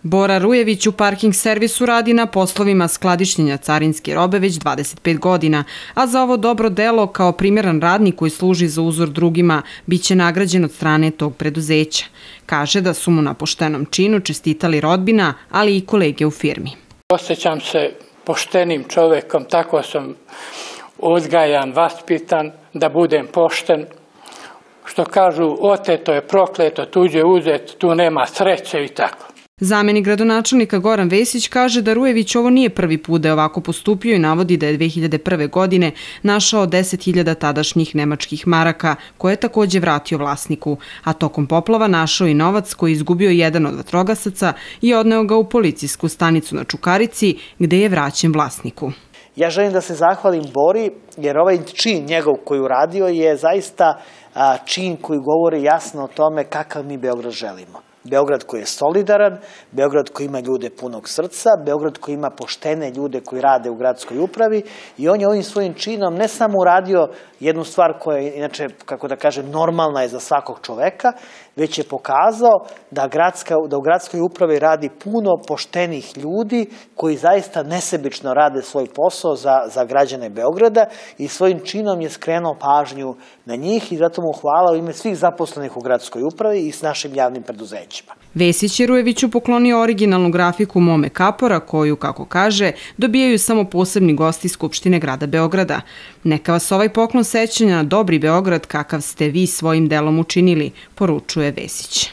Bora Rujević u parking servisu radi na poslovima skladištenja carinske robe već 25 godina, a za ovo dobro delo kao primjeran radnik koji služi za uzor drugima biće nagrađen od strane tog preduzeća. Kaže da su mu na poštenom činu čestitali rodbina, ali i kolege u firmi. Osjećam se poštenim čovjekom, tako sam uzgajan, vaspitan, da budem pošten. Što kažu, oteto je prokleto, tuđe uzet, tu nema sreće i tako. Zamenik gradonačelnika Goran Vesić kaže da Rujević ovo nije prvi put da je ovako postupio i navodi da je 2001. godine našao 10.000 tadašnjih nemačkih maraka, koje je također vratio vlasniku, a tokom poplava našao i novac koji je izgubio jedan od vatrogasaca i odneo ga u policijsku stanicu na Čukarici, gde je vraćen vlasniku. Ja želim da se zahvalim Bori, jer ovaj čin njegov koji uradio je zaista čin koji govori jasno o tome kakav mi Beograd želimo. Beograd koji je solidaran, Beograd koji ima ljude punog srca, Beograd koji ima poštene ljude koji rade u gradskoj upravi i on je ovim svojim činom ne samo uradio jednu stvar koja je, inače, kako da kažem, normalna je za svakog čoveka, već je pokazao da u gradskoj upravi radi puno poštenih ljudi koji zaista nesebično rade svoj posao za građane Beograda i svojim činom je skrenuo pažnju na njih i zato mu hvala u ime svih zaposlenih u gradskoj upravi i s našim javnim preduzećima. Vesić je Rujeviću poklonio originalnu grafiku Mome Kapora koju, kako kaže, dobijaju samo posebni gosti Skupštine grada Beograda. Neka vas ovaj poklon sećanja na dobri Beograd kakav ste vi svojim delom učinili, poručuje Vesić.